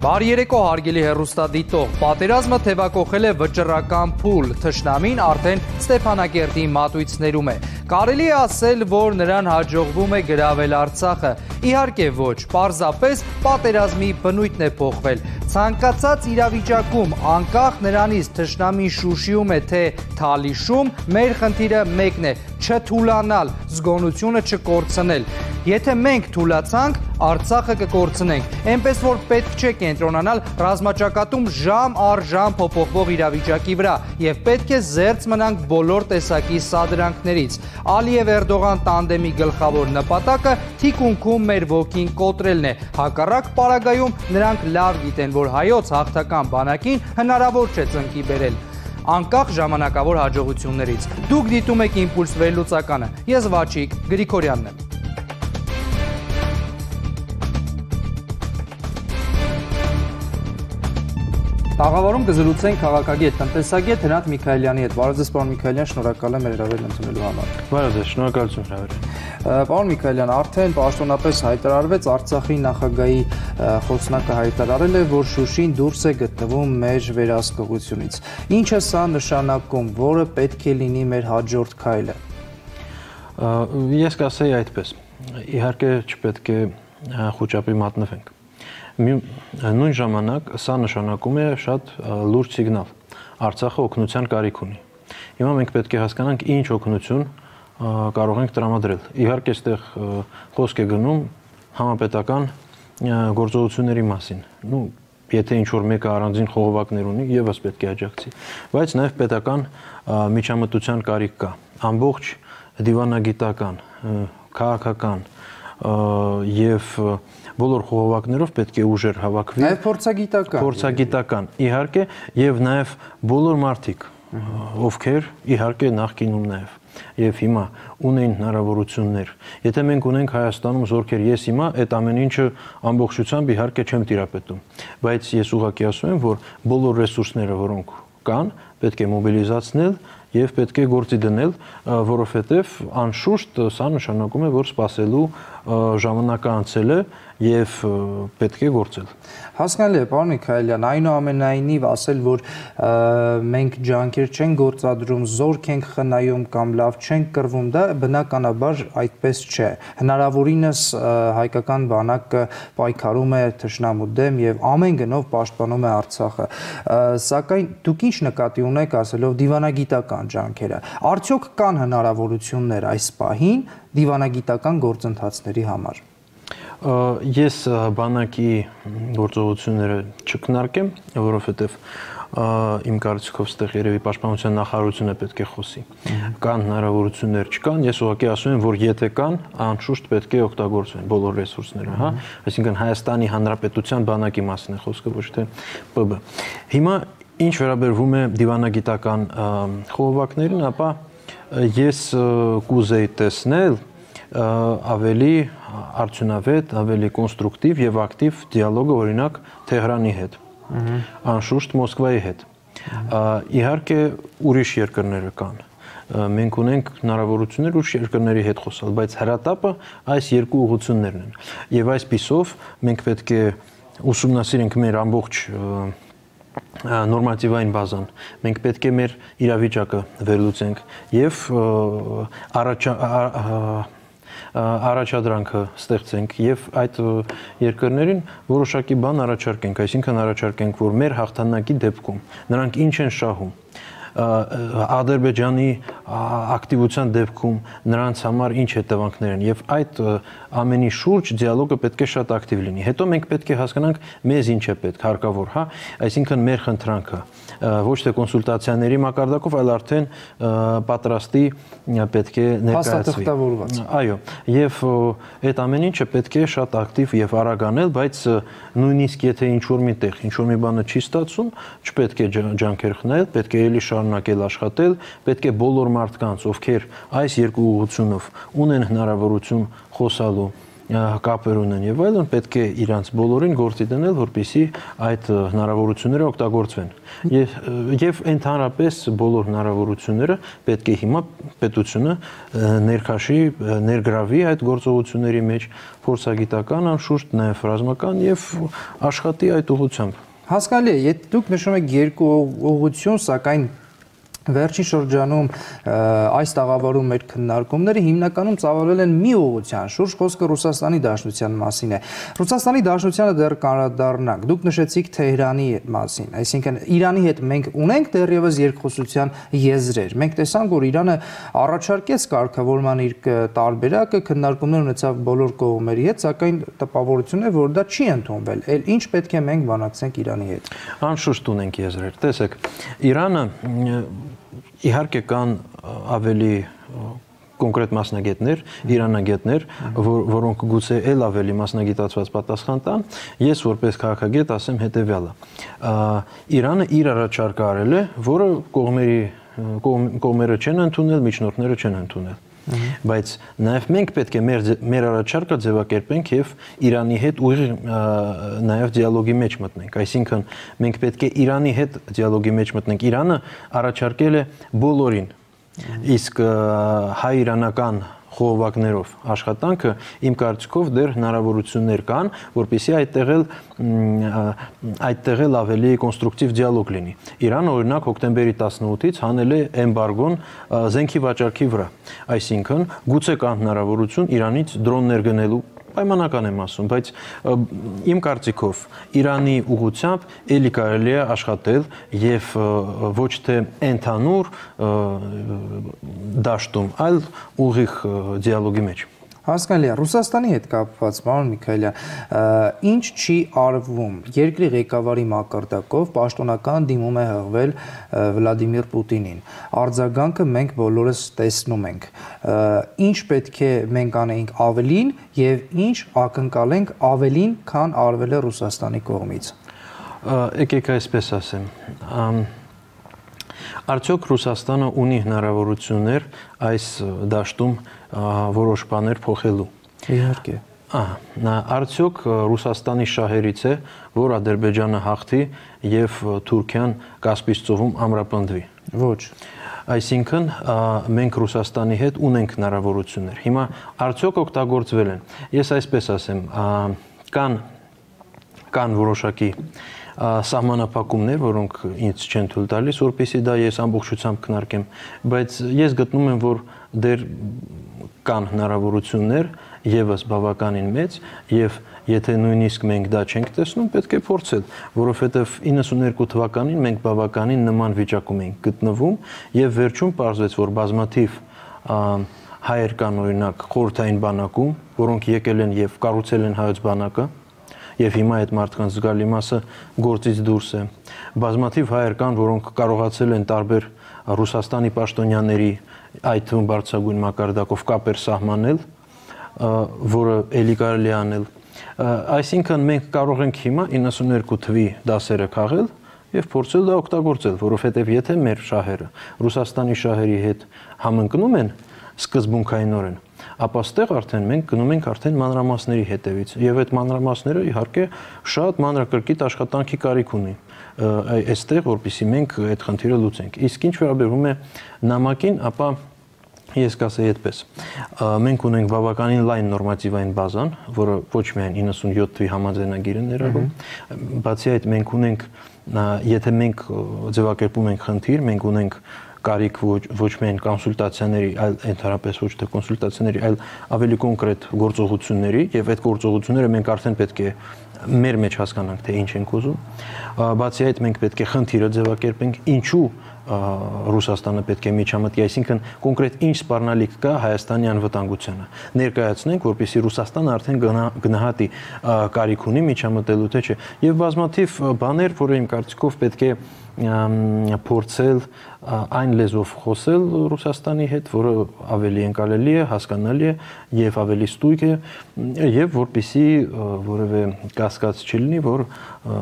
Բարի երեկո հարգելի հեռուստադիտող, պատերազմը թևակոխել է վճռական փուլ, թշնամին արդեն Ստեփանակերտի մատույցներում է։ Կարելի է ասել, որ նրան հաջողվում է գրավել Արցախը։ Իհարկե ոչ, պարզապես պատերազմի բնույթն է փոխվել։ Ցանկացած իրավիճակում, անկախ նրանից թշնամին շուշիում է թե թալիշում, մեր խնդիրը մեկն է՝ չթուլանալ, զգոնությունը չկորցնել։ Եթե մենք թուլացանք, Արցախը կկորցնենք, այնպես որ պետք չէ կենտրոնանալ ռազմաճակատում ժամ առ ժամ փոփոխվող իրավիճակի վրա եւ պետք է զերծ մնանք բոլոր տեսակի սադրանքներից։ Ալիև-Էրդողան տանդեմի գլխավոր նպատակը թիկունքում մեր ոգին կոտրելն է։ Հակառակ պարագայում նրանք լավ գիտեն, որ հայոց հաղթական բանակին հնարավոր չէ ծնկի բերել անկախ ժամանակավոր հաջողություններից։ Դուք դիտում եք Իմպուլս վերլուծականը։ Ես Վաչիկ Գրիգորյանն եմ։ Տաղավարում կզրուցենք քաղաքագետ, տնտեսագետ Հրանտ Միքայելյանի հետ։ Բարև ձեզ, պարոն Միքայելյան, շնորհակալ եմ հրավերն ընդունելու համար։ Բարև ձեզ, շնորհակալություն հրավերին։ Պարոն Միքայելյան, արդեն պաշտոնապես հայտարարվեց, Արցախի նախագահի խոսնակը հայտարարել է, որ Շուշին դուրս է գտնվում մեր վերահսկողությունից։ Ինչ է սա նշանակում, որը պետք է լինի մեր հաջորդ քայլը։ Ես կասեի այդպես։ Իհարկե չպետք է խոճապի մատնվենք։ Նույն ժամանակ սա նշանակում է շատ լուրջ սիգնալ։ Արցախը օգնության կարիք ունի։ Հիմա մենք պետք է հասկանանք ինչ օգնություն կարող ենք տրամադրել։ Իհարկե այստեղ խոսք է գնում համապետական գործողությունների մասին։ Եթե ինչ-որ մեկը առանձին խողովակներ ունի, եւս պետք է աջակցի, բայց նաեւ պետական միջամտության կարիք կա։ Ամբողջ դիվանագիտական, քաղաքական եւ բոլոր խողովակներով պետք է ուժեր հավաքվի։ Նաեւ փորձագիտական, իհարկե, եւ նաեւ բոլոր մարդիկ, ովքեր իհարկե նախկինում նաեւ եւ հիմա ունեն հնարավորություններ։ Եթե մենք ունենք Հայաստանում զորքեր, ես հիմա այդ ամեն ինչը ամբողջությամբ իհարկե չեմ տիրապետում, բայց ես ուղղակի ասում եմ, որ բոլոր ռեսուրսները, որոնք կան, պետք է մոբիլիզացնել եւ պետք է գործի դնել, որովհետեւ անշուշտ սա նշանակում է, որ սպասելու ժամանակը անցել է եւ պետք է գործել։ Հասկանալի է, պարոն Միքայելյան, այնուամենայնիվ ասել, որ մենք ջանքեր չենք գործադրում, զորք ենք խնայում կամ լավ չենք կռվում, դա բնականաբար այդպես չէ։ Հնարավորինս հայկական բանակը պայքարում է թշնամու դեմ եւ ամեն գնով պաշտպանում է Արցախը։ Սակայն դուք ինչ նկատի ունեք ասելով դիվանագիտական ջանքերը։ Արդյոք կան հնարավորություններ այս պահին դիվանագիտական գործընթացների համար։ Ես բանակի գործողությունները չքննարկեմ, որովհետև իմ կարծիքով ստեղ երևի պաշտպանության նախարարությունը պետք է խոսի։ Կան հնարավորություններ, չկան, ես ուղղակի ասում եմ, որ եթե կան, անշուշտ պետք է օգտագործվեն բոլոր ռեսուրսները, հա, այսինքն Հայաստանի Հանրապետության բանակի մասին է խոսքը, ոչ թե ՊԲ։ Հիմա ինչ վերաբերվում է դիվանագիտական խողովակներին, ապա ես կուզեի տեսնել ավելի արդյունավետ, ավելի կոնստրուկտիվ եւ ակտիվ դիալոգը օրինակ Թեհրանի հետ, անշուշտ Մոսկվայի հետ։ Իհարկե ուրիշ երկրները կան։ Մենք ունենք հնարավորություններ ուրիշ երկրների հետ խոսալ, բայց հրատապը այս երկու ուղղություններն են։ Եվ այս պիսով մենք պետք է ուսումնասիրենք մեր ամբողջ նորմատիվային բազան, մենք պետք է մեր իրավիճակը վերլուծենք եւ առաջադրանքը ստեղծենք եւ այդ երկրներին որոշակի բան առաջարկենք, այսինքն առաջարկենք, որ մեր հաղթանակի դեպքում նրանք ինչ են շահում, Ադրբեջանի ակտիվության դեպքում նրանց համար ինչ հետևանքներ են եւ այդ ամենի շուրջ դիալոգը պետք է շատ ակտիվ լինի։ Հետո մենք պետք է հասկանանք մեզ ինչ է պետք, հարկավոր, հա, այսինքն մեր խնդրանքը ոչ թե կոնսուլտացիաների մակարդակով, այլ արդեն պատրաստի պետք է ներկայացվի։ Այո, եւ այդ ամեն ինչը պետք է շատ ակտիվ եւ արագ անել, բայց նույնիսկ եթե ինչ-որ միտեղ, ինչ-որ մի բանը չի ստացվում, չպետք է ջանքեր խնայել, պետք է էլի շարունակել աշխատել, պետք է բոլոր մարդկանց, ովքեր այս երկու ուղղությունով ունեն հնարավորություն խոսալու կապեր ունեն եւ այլն, պետք է իրանց բոլորին գործի դնել, որպեսզի այդ հնարավորությունները օգտագործվեն։ Եվ ընդհանրապես բոլոր հնարավորությունները պետք է հիմա պետությունը ներգրավի այդ գործողությունների մեջ, փորձագիտական, անշուշտ նաեւ ռազմական եւ աշխատի այդ ուղղությամբ։ Հասկանալի է, եթե դուք նշում եք երկու ուղղություն, սակայն վերջին շրջանում այս տաղավարում մեր քննարկումները հիմնականում ծավալվել են մի ուղղության շուրջ, խոսքը Ռուսաստանի Դաշնության մասին է։ Ռուսաստանի Դաշնությանը դեռ կանդրադառնանք։ Դուք նշեցիք Թեհրանի մասին, այսինքն Իրանի հետ մենք ունենք դեռևս երկխոսության եզրեր։ Մենք տեսանք, որ Իրանը առաջարկեց կարգավորման իր տարբերակը, քննարկումներ ունեցավ բոլոր կողմերի հետ, սակայն տպավորությունն է, որ դա չի ընդունվել։ Էլ ինչ պետք է մենք բանակցենք Իրանի հետ։ Անշուշտ ունենք եզրեր։ Տեսեք, Իրանը իհարկե կան ավելի կոնկրետ մասնագետներ, իրանագետներ, որոնք գուցե էլ ավելի մասնագիտացված պատասխան տան, ես որպես քաղաքագետ ասեմ հետևյալը։ Իրանը իր առաջարկը արել է, որը կողմերը չեն ընդունել, միջնորդները չեն ընդունել։ Բայց նաև մենք պետք է մեր առաջարկը ձևակերպենք եւ Իրանի հետ ուղիղ նաև դիալոգի մեջ մտնենք, այսինքն մենք պետք է Իրանի հետ դիալոգի մեջ մտնենք։ Իրանը առաջարկել է բոլորին, իսկ հայ-իրանական խողովակներով աշխատանքը իմ կարծիքով դեռ հնարավորություններ կան, որպեսզի այդտեղ էլ ավելի կոնստրուկտիվ դիալոգ լինի։ Իրանը օրինակ հոկտեմբերի 18-ից հանել է էմբարգոն զենքի վաճառքի վրա, այսինքն գուցե կա հնարավորություն Իրանից դրոններ գնելու, պայմանական եմ ասում, բայց իմ կարծիքով Իրանի ուղղությամբ էլի կարելի է աշխատել եւ ոչ թե ընդհանուր դաշտում, այլ ուղիղ դիալոգի մեջ։ Հասկանալի է, Ռուսաստանի հետ կապված, պարոն Միքայելյան, ինչ չի արվում, երկրի ղեկավարի մակարդակով պաշտոնական դիմում է հղվել Վլադիմիր Պուտինին, արձագանքը մենք բոլորս տեսնում ենք, ինչ պետք է մենք անեինք ավելին եւ ինչ ակնկալենք ավելին, քան արվել է Ռուսաստանի կողմից։ Եկեք այսպես ասեմ, արդյոք Ռուսաստանը ունի հնարավորություններ այս դաշտում որոշ բաներ փոխելու։ Իհարկե։ Արդյոք Ռուսաստանի շահերից է, որ Ադրբեջանը հաղթի եւ Թուրքիան Կասպից ծովում ամրապնդվի։ Ոչ։ Այսինքն մենք Ռուսաստանի հետ ունենք հնարավորություններ։ Հիմա արդյոք օգտագործվել են։ Ես այսպես ասեմ, կան որոշակի սահմանափակումներ, որոնք ինձ չեն թույլ տալիս, որպեսզի դա ես ամբողջությամբ քննարկեմ, բայց ես գտնում եմ, որ դեռ կան հնարավորություններ եւս բավականին մեծ եւ եթե նույնիսկ մենք դա չենք տեսնում, պետք է փորձել, որովհետեւ 92 թվականին մենք բավականին նման վիճակում էինք գտնվում եւ վերջում պարզվեց, որ բազմաթիվ հայեր կան օրինակ խորհրդային բանակում, որոնք եկել են եւ կառուցել են հայոց բանակը եւ հիմա այդ մարդկանց զգալի մասը գործից դուրս է։ Բազմաթիվ հայեր կան, որոնք կարողացել են տարբեր Ռուսաստանի պաշտոնյաների, այդ թվում բարձրագույն մակարդակով կապեր սահմանել, որը էլի կարելի անել։ Այսինքն մենք կարող ենք հիմա 92 թվի դասերը քաղել եւ փորձել դա օգտագործել, որովհետեւ եթե մեր շահերը Ռուսաստանի շահերի հետ համընկնում են սկզբունքայինորեն, ապա ստեղ արդեն մենք գնում ենք արդեն մանրամասների հետևից եւ այդ մանրամասները իհարկե շատ մանրակրկիտ աշխատանքի կարիք ունի այստեղ, որպեսզի մենք այդ խնդիրը լուծենք։ Իսկ ինչ վերաբերում է նամակին, ապա ես կասեի այդպես. մենք ունենք բավականին լայն նորմատիվային բազան, որը ոչ միայն 97 թվի համաձայնագիրը ներառում, բացի այդ մենք ունենք, եթե մենք ձևակերպում ենք խնդիր, մենք ունենք կարիք ոչ միայն կոնսուլտացիաների, այլ ընդհանրապես ոչ թե կոնսուլտացիաների, այլ ավելի կոնկրետ գործողությունների եւ այդ գործողությունները մենք արդեն պետք է մեր մեջ հասկանանք, թե ինչ ենք ուզում։ Բացի այդ մենք պետք է խնդիրը ձևակերպենք, ինչու Ռուսաստանը պետք է միջամտի, այսինքն կոնկրետ ինչ սպառնալիք կա Հայաստանի անվտանգությանը։ Ներկայացնենք, որպեսզի Ռուսաստանը արդեն գնահատի կարիք ունի միջամտելու թե չէ։ Եվ բազմաթիվ բաներ, որը իմ կարծիքով պետք է փորձել այն լեզվով խոսել Ռուսաստանի հետ, որը ավելի ընկալելի է, հասկանալի է եւ ավելի ստույգ է եւ որպեսզի որևէ կասկած չի լինի, որ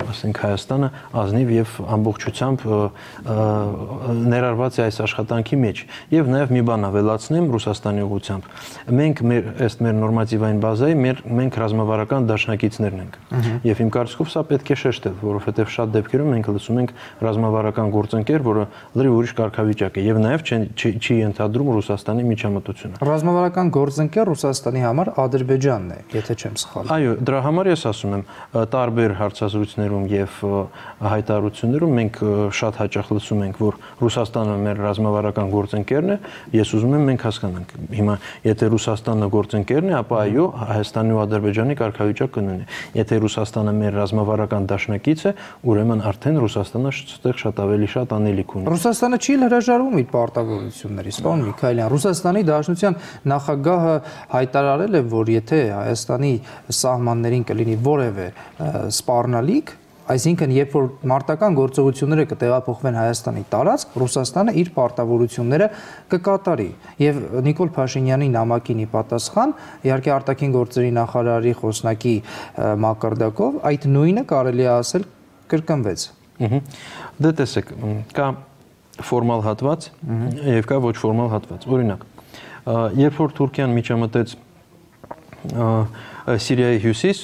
ասենք Հայաստանը ազնիվ եւ ամբողջությամբ ներառված է այս աշխատանքի մեջ։ Եվ նաեւ մի բան ավելացնեմ Ռուսաստանի ուղղությամբ։ Մենք ըստ մեր նորմատիվային բազայի մենք ռազմավարական դաշնակիցներն ենք։ Եվ իմ կարծիքով սա պետք է շեշտել, որովհետեւ շատ դեպքերում մենք լսում ենք ռազմավարական գործընկեր, որը լրիվ ուրիշ կարգավիճակ է եւ նաեւ չի ընդհանրում Ռուսաստանի միջամտությունը։ Ռազմավարական գործընկեր Ռուսաստանի համար Ադրբեջանն է, եթե չեմ սխալվում։ Այո, դրա համար ես ասում եմ, տարբեր հարցազրույցներում եւ հայտարարություններում մենք շատ հաճախ լսում ենք, որ Ռուսաստանը մեր ռազմավարական գործընկերն է, ես ուզում եմ մենք հասկանանք։ Հիմա եթե Ռուսաստանը գործընկերն է, ապա այո, Հայաստանի ու Ադրբեջանի կարգավիճակ կնույնն է։ Եթե Ռուսաստանը մեր ռազմավարական դաշնակից է, ուրեմն արդեն Ռուսաստանը այդտեղ շատ ավելի շատ անելիք ունի։ Ռուսաստանը չի հրաժարվում իր պարտավորություններից, պարոն Միքայելյան։ Ռուսաստանի Դաշնության նախագահը հայտարարել է, որ եթե Հայաստանի սահմաններին կլինի որևէ սպառնալիք, այսինքն երբ որ մարտական գործողությունները կտեղափոխվեն Հայաստանի տարածք, Ռուսաստանը իր պարտավորությունները կկատարի։ Եվ Նիկոլ Փաշինյանի նամակին ի պատասխան, իհարկե արտաքին գործերի նախարարի խոսնակի մակարդակով, այդ նույնը կարելի է ասել կրկնվեց։ Դե տեսեք, կա ֆորմալ հատված եւ կա ոչ ֆորմալ հատված։ Օրինակ, երբ որ Թուրքիան միջամտեց Սիրիայի հյուսիս,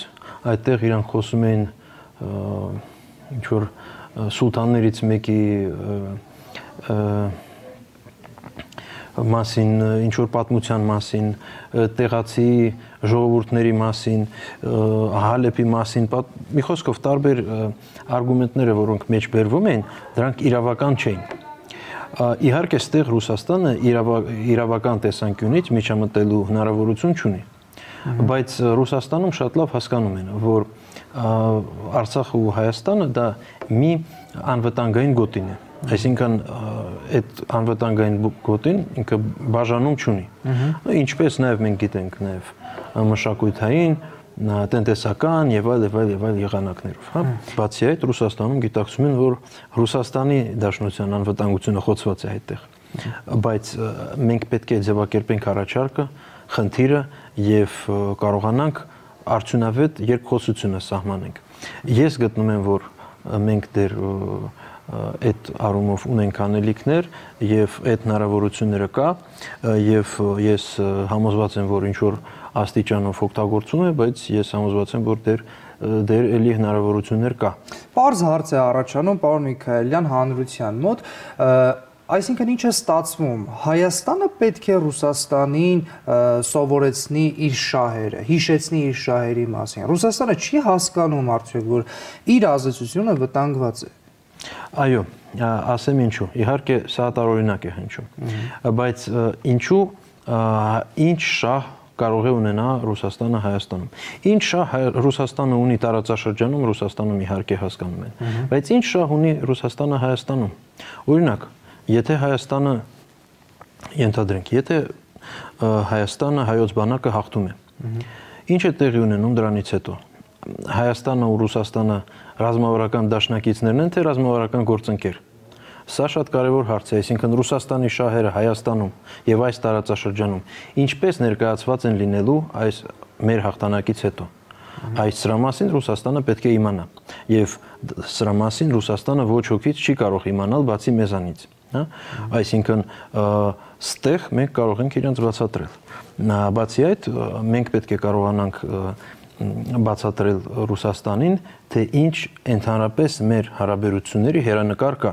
այդտեղ իրանք խոսում էին ինչ որ սուլտաններից մեկի մասին, ինչ որ պատմության մասին, տեղացի ժողովուրդների մասին, Հալեպի մասին, մի խոսքով տարբեր արգումենտները, որոնք մեջ բերվում էին, դրանք իրավական չէին։ Իհարկե, ստեղ Ռուսաստանը իրավական տեսանկյունից միջամտելու հնարավորություն չունի, բայց Ռուսաստանում շատ լավ հասկանում են, որ Արցախը ու Հայաստանը դա մի անվտանգային գոտին է, այսինքն այդ անվտանգային գոտին ինքը բաժանում չունի, ինչպես նաև մենք գիտենք նաև մշակութային, տնտեսական եւ այլ եղանակներով, հա։ Բացի այդ, Ռուսաստանում գիտակցում են, որ Ռուսաստանի Դաշնության անվտանգությունը խոցված է այդտեղ, բայց մենք պետք է ձևակերպենք առաջարկը, խնդիրը եւ կարողանանք արդյունավետ երկխոսությունը սահմանենք։ Ես գտնում եմ, որ մենք դեռ այդ առումով ունենք անելիքներ եւ այդ հնարավորությունները կա եւ ես համոզված եմ, որ ինչ որ աստիճանով օգտագործում է, բայց ես համոզված եմ, որ դեռ էլի հնարավորություններ կա։ Պարզ հարց է առաջանում, պարոն Միքայելյան, հանրության մոտ, այսինքն ինչ է ստացվում, Հայաստանը պետք է Ռուսաստանին սովորեցնի իր շահերը, հիշեցնի իր շահերի մասին։ Ռուսաստանը չի հասկանում արդյոք, որ իր ազդեցությունը վտանգված է։ Այո, ասեմ ինչու։ Իհարկե սա տարօրինակ է հնչում, բայց ինչու ինչ շահ կարող է ունենա Ռուսաստանը Հայաստանում։ Ինչ շահ Ռուսաստանը ունի տարածաշրջանում, Ռուսաստանում իհարկե հասկանում են, բայց ինչ շահ ունի Ռուսաստանը Հայաստանում։ Օրինակ, եթե Հայաստանը ենթադրենք, եթե Հայաստանը հայոց բանակը հաղթում է, ինչ է տեղի ունենում դրանից հետո։ Հայաստանը ու Ռուսաստանը ռազմավարական դաշնակիցներն են, թե ռազմավարական գործընկեր։ Սա շատ կարևոր հարց է, այսինքն Ռուսաստանի շահերը Հայաստանում եւ այս տարածաշրջանում ինչպես ներկայացված են լինելու այս մեր հաղթանակից հետո։ Այս սրա մասին Ռուսաստանը պետք է իմանա եւ սրա մասին Ռուսաստանը ոչ ոքից չի կարող իմանալ բացի մեզանից, հա։ Այսինքն ստեղ մենք կարող ենք իրենց բացատրել։ Բացի այդ մենք պետք է կարողանանք բացատրել Ռուսաստանին, թե ինչ ընդհանրապես մեր հարաբերությունների հերանեկար կա։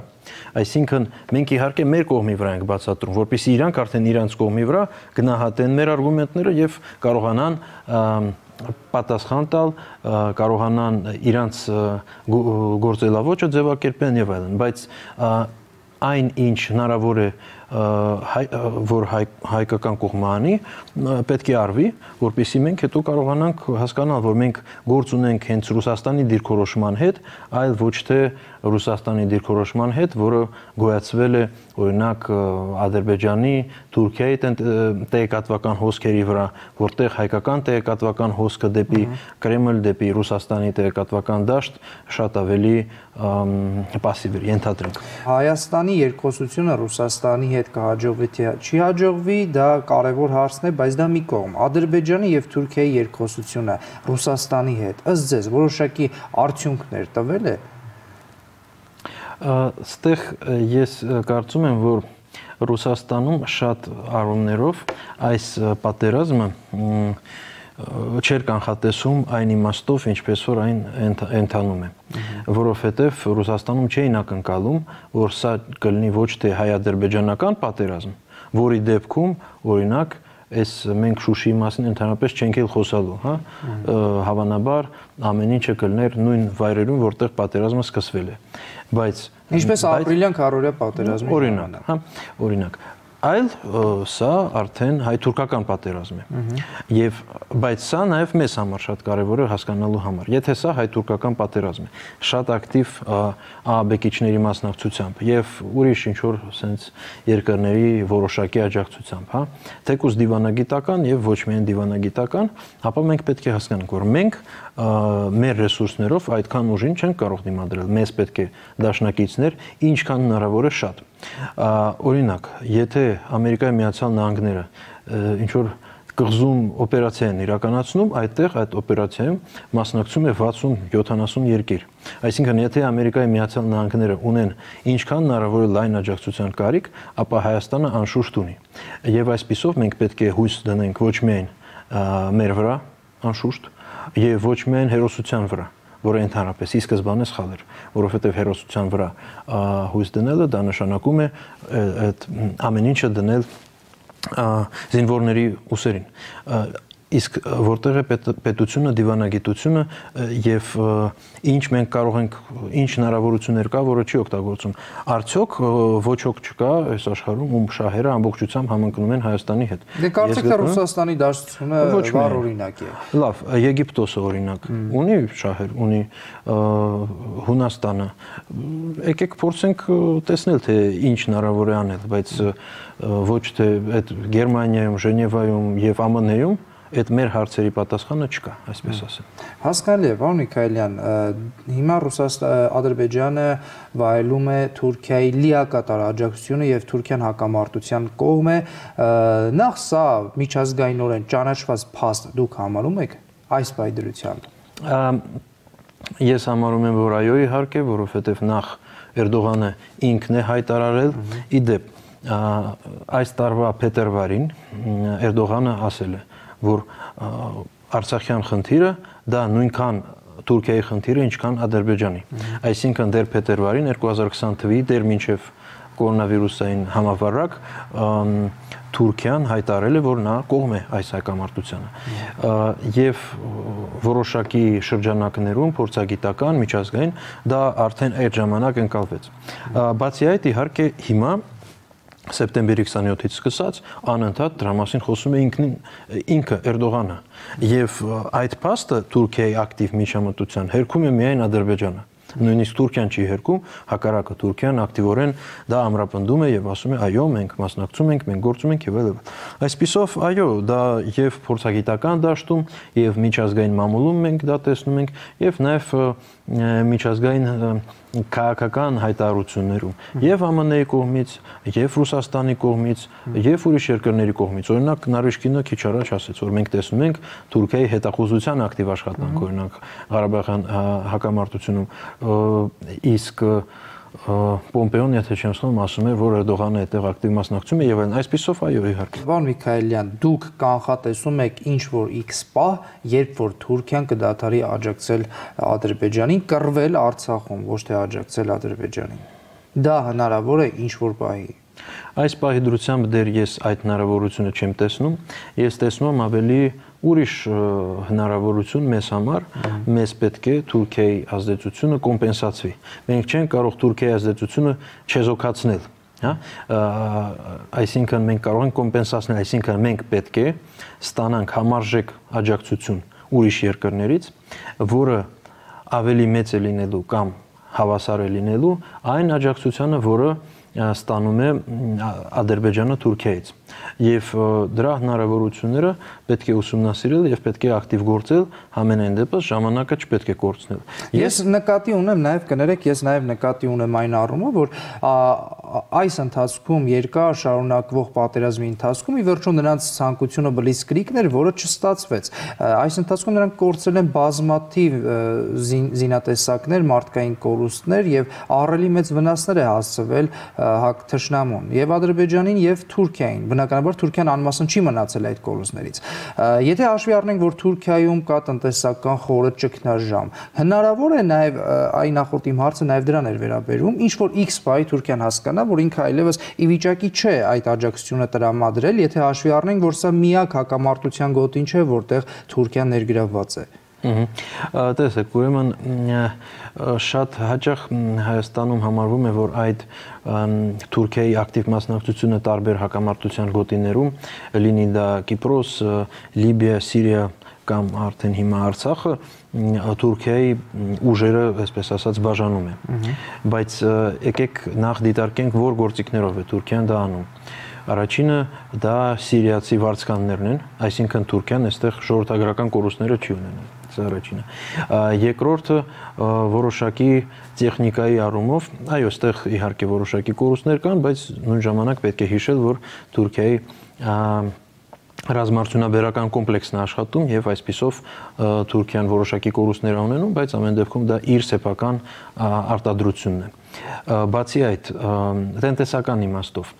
Այսինքն մենք իհարկե մեր կողմի վրա ենք բացատրում, որպեսզի իրանք արդեն իրանց կողմի վրա գնահատեն մեր արգումենտները եւ կարողանան պատասխան տալ, կարողանան իրանց գործելավոճը ձևակերպեն եւ այլն, բայց այն ինչ հնարավոր է որ հայկական կողմը անի, պետք է արվի, որպեսզի մենք հետո կարողանանք հասկանալ, որ մենք գործ ունենք հենց Ռուսաստանի դիրքորոշման հետ, այլ ոչ թե Ռուսաստանի դիրքորոշման հետ, որը գոյացվել է օրինակ Ադրբեջանի, Թուրքիայի տեղեկատվական հոսքերի վրա, որտեղ հայկական տեղեկատվական հոսքը դեպի Կրեմլ, դեպի Ռուսաստանի տեղեկատվական դաշտ շատ ավելի պասիվ էր, ենթադրենք։ Հայաստանի երկխոսությունը Ռուսաստանի հետ հետ կհաջողվի, թե չի հաջողվի, դա կարևոր հարցն է, բայց դա մի կողմ։ Ադրբեջանի եւ Թուրքիայի երկխոսությունը Ռուսաստանի հետ, ըստ ձեզ, որոշակի արդյունքներ տվել է։ Այստեղ ես կարծում եմ, որ Ռուսաստանում շատ առումներով այս պատերազմը չէր կանխատեսում այն իմաստով, ինչպես որ այն ընթանում է, որովհետև Ռուսաստանում չէին ակնկալում, որ սա կլինի ոչ թե հայ-ադրբեջանական պատերազմ, որի դեպքում, օրինակ, այս մենք Շուշիի մասին ընդհանրապես չենք էլ խոսալու, հա, հավանաբար ամեն ինչը կլներ նույն վայրերում, որտեղ պատերազմը սկսվել է, բայց ինչպես ապրիլյան քարորիա պատերազմի օրինակ, հա, օրինակ, այլ սա արդեն հայ-թուրքական պատերազմ է։ Եվ բայց սա նաև մեզ համար շատ կարևոր է հասկանալու համար։ Եթե սա հայ-թուրքական պատերազմ է, շատ ակտիվ ԱԱԲ-կիչների մասնակցությամբ եւ ուրիշ ինչ որ sense երկրների որոշակի աջակցությամբ, հա, թեկուզ դիվանագիտական եւ ոչ միայն դիվանագիտական, ապա մենք պետք է հասկանանք, որ մենք մեր ռեսուրսներով այդքան ուժին չենք կարող դիմադրել։ Մեզ պետք է դաշնակիցներ, ինչքան հնարավոր է շատ։ Օրինակ, եթե Ամերիկայի Միացյալ Նահանգները ինչ որ կղզում օպերացիա են իրականացնում, այդտեղ այդ օպերացիայում մասնակցում է 60-70 երկիր։ Այսինքն, եթե Ամերիկայի Միացյալ Նահանգները ունեն ինչքան հնարավոր է լայն աջակցության կարիք, ապա Հայաստանը անշուշտ ունի։ Եվ այսպիսով մենք պետք է հույս դնենք ոչ միայն մեր վրա, անշուշտ, եւ ոչ միայն հերոսության վրա, որը ընդհանրապես ի սկզբանե սխալ էր, որովհետեւ հերոսության վրա հույս դնելը դա նշանակում է այդ ամեն ինչը դնել զինվորների ուսերին, իսկ որտեղ է պետությունը, դիվանագիտությունը եւ ինչ մենք կարող ենք, ինչ հնարավորություններ կա, որը չի օգտագործում։ Արդյոք ոչ ոք չկա այս աշխարհում, ում շահերը ամբողջությամբ համընկնում են Հայաստանի հետ։ Դե կարծեք թե Ռուսաստանի դաշտությունը վառ օրինակ է։ Լավ, Եգիպտոսը օրինակ ունի շահեր, ունի Հունաստանը։ Եկեք փորձենք տեսնել, թե ինչ հնարավոր է անել, բայց ոչ թե այդ Գերմանիայում, Ժնևայում եւ ԱՄՆ-ում այդ մեր հարցերի պատասխանը չկա, այսպես ասեմ։ Հասկանալի է, պարոն Միքայելյան, հիմա Ադրբեջանը վայելում է Թուրքիայի լիակատար աջակցությունը եւ Թուրքիան հակամարտության կողմ է, նախ սա միջազգայինորեն ճանաչված փաստ դուք համարում եք այս պայդրությամբ։ Ես համարում եմ, որ այո, իհարկե, որովհետեւ նախ Էրդողանը ինքն է հայտարարել, իդեպ այս տարվա փետրվարին Էրդողանը ասել է, որ Արցախյան խնդիրը դա նույնքան Թուրքիայի խնդիրը, ինչքան Ադրբեջանի։ Այսինքն դեռ փետրվարին 2020 թվականի դեռ մինչև կորոնավիրուսային համավարակ Թուրքիան հայտարարել է, որ նա կողմ է այս հակամարտությանը։ Եվ որոշակի շրջանակներում փորձագիտական, միջազգային դա արդեն այդ ժամանակ ընկալվեց։ Բացի այդ, իհարկե, հիմա սեպտեմբերի 27-ից սկսած անընդհատ դրա մասին խոսում է ինքը Էրդողանը եւ այդ փաստը Թուրքիայի ակտիվ միջամտության հերքում է միայն Ադրբեջանը։ Նույնիսկ Թուրքիան չի հերքում, հակառակը Թուրքիան ակտիվորեն դա ամրապնդում է եւ ասում է այո, մենք մասնակցում ենք, մենք գործում ենք եւ այլն։ Այսպիսով, այո, դա եւ փորձագիտական դաշտում եւ միջազգային մամուլում մենք դա տեսնում ենք եւ նաեւ միջազգային քաղաքական հայտարարություններում եւ ԱՄՆ-ի կողմից, եւ Ռուսաստանի կողմից, եւ ուրիշ երկրների կողմից։ Օրինակ Նարիշկինը քիչ առաջ ասաց, որ մենք տեսնում ենք Թուրքիայի հետախուզության ակտիվ աշխատանք, օրինակ Ղարաբաղյան հակամարտությունում, իսկ Պոմպեոն, եթե չեմ սխալվում, ասում է, որ Էրդողանը այդտեղ ակտիվ մասնակցում է եւ այլն։ Այսպիսով, այո, իհարկե։ Պարոն Միքայելյան, դուք կանխատեսում եք ինչ որ X պահ, երբ որ Թուրքիան կդադարի աջակցել Ադրբեջանին, կռվել Արցախում, ոչ թե աջակցել Ադրբեջանին։ Դա հնարավոր է ինչ որ պահի։ Այս պահի դրությամբ դեռ ես այդ հնարավորությունը չեմ տեսնում, ես տեսնում եմ ավելի ուրիշ հնարավորություն մեզ համար, մեզ պետք է Թուրքիայի ազդեցությունը կոմպենսացվի։ Մենք չենք կարող Թուրքիայի ազդեցությունը չեզոքացնել, հա? Այսինքն մենք կարող ենք կոմպենսացնել, այսինքն մենք պետք է ստանանք համարժեք աջակցություն ուրիշ երկրներից, որը ավելի մեծ է լինելու կամ հավասար է լինելու այն աջակցությանը, որը ստանում է Ադրբեջանը Թուրքիայից։ եւ դրա հնարավորությունները պետք է ուսումնասիրել եւ պետք է ակտիվ գործել, համենայն դեպս ժամանակը չպետք է կորցնել։ Ես նկատի ունեմ նաեւ կներեք, ես նաեւ նկատի ունեմ այն առումով, որ այս ընթացքում երկար շարունակվող պատերազմի ընթացքում ի վերջո նրանց ցանկությունը բլիցկրիգն էր, որը չստացվեց։ Այս ընթացքում նրանք կորցրել են բազմաթիվ զինատեսակներ, մարդկային կորուստներ եւ ահռելի մեծ վնասներ է հասցվել թշնամուն եւ Ադրբեջանին եւ Թուրքիային։ Բնականաբար Թուրքիան անմասն չի մնացել այդ կորուստներից։ Եթե հաշվի առնենք, որ Թուրքիայում կա տնտեսական խորը ճգնաժամ, հնարավոր է նաեւ այն նախորդ իմ հարցը նաեւ դրան էր վերաբերում, ինչ որ X բայ Թուրքիան հասկանա, որ ինքը այլևս ի վիճակի չէ այդ աջակցությունը տրամադրել, եթե հաշվի առնենք, որ սա միակ հակամարտության գոտին չէ, որտեղ Թուրքիան ներգրավված է։ Տեսեք, ուրեմն շատ հաճախ Հայաստանում համարվում է, որ այդ Թուրքիայի ակտիվ մասնակցությունը տարբեր հակամարտության գոտիներում, լինի դա Կիպրոս, Լիբիա, Սիրիա կամ արդեն հիմա Արցախը, Թուրքիայի ուժերը, այսպես ասած, բաժանում է։ Բայց եկեք նախ դիտարկենք, որ գործիքներով է Թուրքիան դա անում։ Առաջինը դա սիրիացի վարձկաններն են, այսինքն Թուրքիան այստեղ ժողովրդագրական կորուստները չի ունենում, դա առաջինը։ Երկրորդը որոշակի տեխնիկայի առումով, այո, այստեղ իհարկե որոշակի կորուստներ կան, բայց նույն ժամանակ պետք է հիշել, որ Թուրքիայի ռազմարտությունաբերական կոմպլեքսն է աշխատում եւ այսպիսով Թուրքիան որոշակի կորուստներ ունենում, բայց ամեն դեպքում դա իր սեփական արտադրությունն է։ Բացի այդ, տնտեսական իմաստով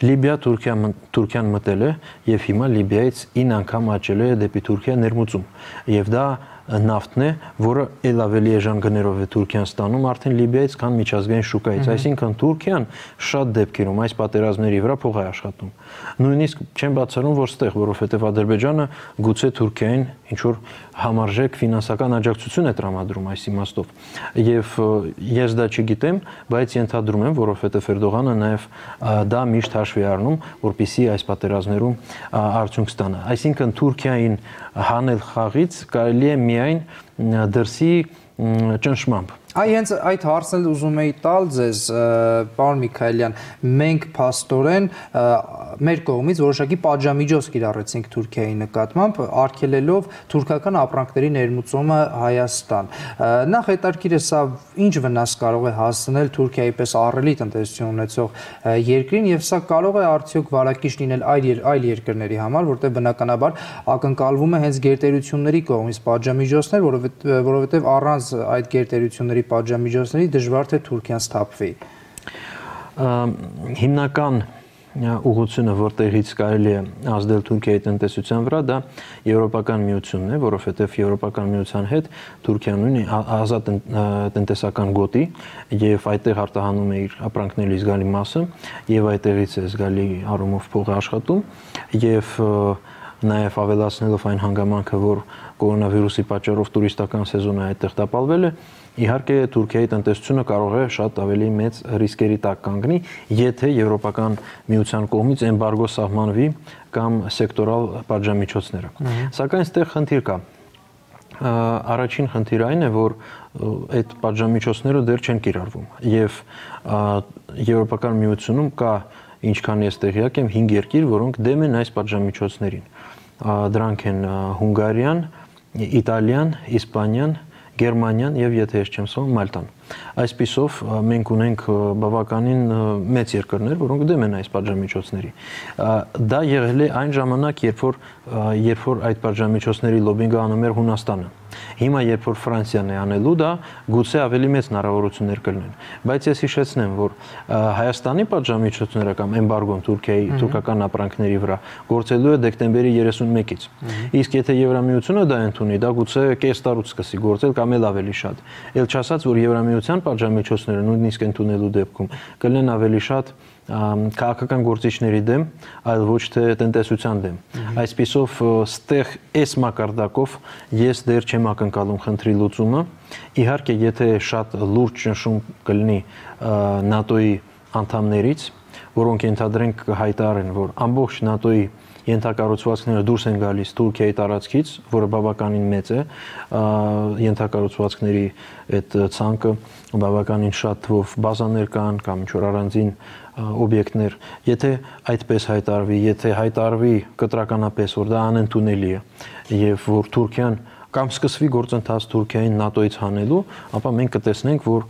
Լիբիա Թուրքիան մտել է եւ հիմա Լիբիայից 9 անգամ աճել է դեպի Թուրքիա ներմուծում եւ դա նավթն է, որը ել ավելի էժան գներով է Թուրքիան ստանում արդեն Լիբիայից, քան միջազգային շուկայից, այսինքն Թուրքիան շատ դեպքերում այս պատերազմների վրա փող է աշխատում։ Նույնիսկ չեմ բացառում, որ ստեղ, որովհետև Ադրբեջանը գուցե Թուրքիային ինչ որ համարժեք ֆինանսական աջակցություն է տրամադրում այս իմաստով։ Եվ ես դա չգիտեմ, բայց ենթադրում եմ, որովհետև Էրդողանը նաև դա միշտ հաշվի առնում, որպեսզի այս պատերազմներում արդյունք ստանա։ Այսինքն Թուրքիային հանել խաղից կարելի է միայն դրսի ճնշմամբ։ Հենց այդ հարցն էլ ուզում էի տալ ձեզ, պարոն Միքայելյան, մենք փաստորեն մեր կողմից որոշակի պատժամիջոց կիրառեցինք Թուրքիայի նկատմամբ, արգելելով թուրքական ապրանքների ներմուծումը Հայաստան։ Նախ հետաքրքիր է սա ինչ վնաս կարող է հասցնել Թուրքիայի պես ահռելի տնտեսություն ունեցող երկրին եւ սա կարող է արդյոք վարակիչ լինել այլ երկրների համար, որտեղ բնականաբար ակնկալվում է հենց գերտերությունների կողմից պատժամիջոցներ, որովհետեւ առանց այդ գերտերությունների պատժամիջոցների դժվար թե Թուրքիան սթափվի։ Հիմնական ուղղությունը, որտեղից կարելի է ազդել Թուրքիայի տնտեսության վրա, դա Եվրոպական միությունն է, որովհետև Եվրոպական միության հետ Թուրքիան ունի ազատ տնտեսական գոտի եւ այդտեղ արտահանում է իր ապրանքների զգալի մասը եւ այդտեղից է զգալի առումով փողը աշխատում եւ նաև ավելացնելով այն հանգամանքը, որ կորոնավիրուսի պատճառով տուրիստական սեզոնը այդտեղ տապալվել է, իհարկե Թուրքիայի տնտեսությունը կարող է շատ ավելի մեծ ռիսկերի տակ կանգնի, եթե Եվրոպական միության կողմից էմբարգո սահմանվի կամ սեկտորալ պատժամիջոցները։ Սակայն այստեղ խնդիր կա։ Առաջին խնդիրը այն է, որ այդ պատժամիջոցները դեռ չեն կիրառվում եւ Եվրոպական միությունում կա, ինչքան ես տեղյակ եմ, 5 երկիր, որոնք դեմ են այս պատժամիջոցներին։ Դրանք են Հունգարիան, Իտալիան, Իսպանիան, Գերմանիան եւ եթե ես չեմ սխալվում Մալտան։ Այսպիսով մենք ունենք բավականին մեծ երկրներ, որոնք դեմ են այս պատժամիջոցների։ Դա եղել է այն ժամանակ, երբ որ այդ պատժամիջոցների լոբինգը անում էր Հունաստանը։ Հիմա երբ որ Ֆրանսիան է անելու դա, գուցե ավելի մեծ հնարավորություններ կլինեն։ Բայց ես հիշեցնեմ, որ Հայաստանի պատժամիջոցները կամ էմբարգոն Թուրքիայի թուրքական ապրանքների վրա գործելու է դեկտեմբերի 31-ից։ Իսկ եթե Եվրամիությունը դա ընդունի, դա գուցե կես տարուց սկսի գործել կամ էլ ավելի շատ։ Էլ չասած, որ Եվրամիության պատժամիջոցները նույնիսկ ընդունելու դեպքում կլինեն ավելի շատ քաղաքական գործիչների դեմ, այլ ոչ թե տնտեսության դեմ։ Այսպիսով ստեղ այս մակարդակով ես դեռ չեմ ակնկալում խնդրի լուծումը։ Իհարկե, եթե շատ լուրջ ճնշում կլինի ՆԱՏՕ-ի անդամներից, որոնք ենթադրենք կհայտարարեն, որ ամբողջ ՆԱՏՕ-ի ենթակառուցվածքները դուրս են գալիս Թուրքիայի տարածքից, որը բավականին մեծ է, ենթակառուցվածքների այդ ցանկը բավականին շատ թվով բազաներ կան կամ ինչ-որ առանձին օբյեկտներ, եթե այդպես հայտարվի, եթե հայտարվի կտրականապես, որ դա անընդունելի է եւ որ Թուրքիան կամ սկսվի գործընթաց Թուրքիային ՆԱՏՕ-ից հանելու, ապա մենք կտեսնենք, որ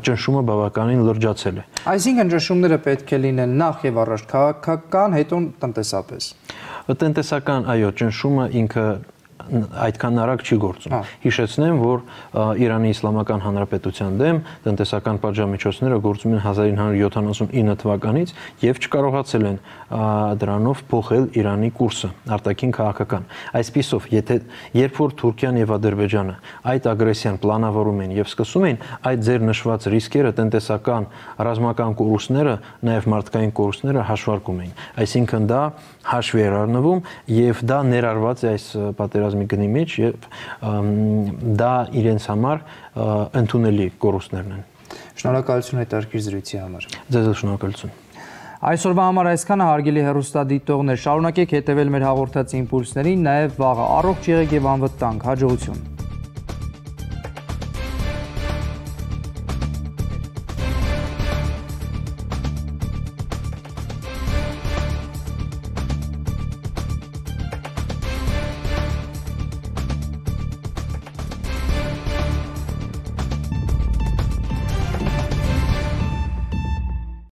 ճնշումը բավականին լրջացել է։ Այսինքն ճնշումները պետք է լինեն նախ եւ առաջ քաղաքական, հետո տնտեսապես։ Տնտեսական, այո, ճնշումը ինքը այդքան արագ չի գործում։ Հիշեցնեմ, որ Իրանի Իսլամական Հանրապետության դեմ տնտեսական պատժամիջոցները գործում են 1979 թվականից եւ չկարողացել են դրանով փոխել Իրանի կուրսը, արտաքին քաղաքական։ Այսպիսով, երբ որ Թուրքիան եւ Ադրբեջանը այդ ագրեսիան պլանավորում են եւ սկսում են, այդ ձեր նշված ռիսկերը, տնտեսական, ռազմական կորուստները, նաեւ մարդկային կորուստները հաշվարկում են։ Այսինքն դա հաշվի էր առնվում եւ դա ներառված է այս պատերազմի գնի մեջ եւ դա իրենց համար ընդունելի կորուստներն են։ Շնորհակալություն հետաքրքիր զրույցի համար։ Ձեզ շնորհակալություն։ Այսօրվա համար այսքանը, հարգելի հեռուստադիտողներ, շարունակեք հետևել մեր հաղորդած իմպուլսներին, նաև վաղը առողջ եղեք եւ անվտանգ, հաջողություն։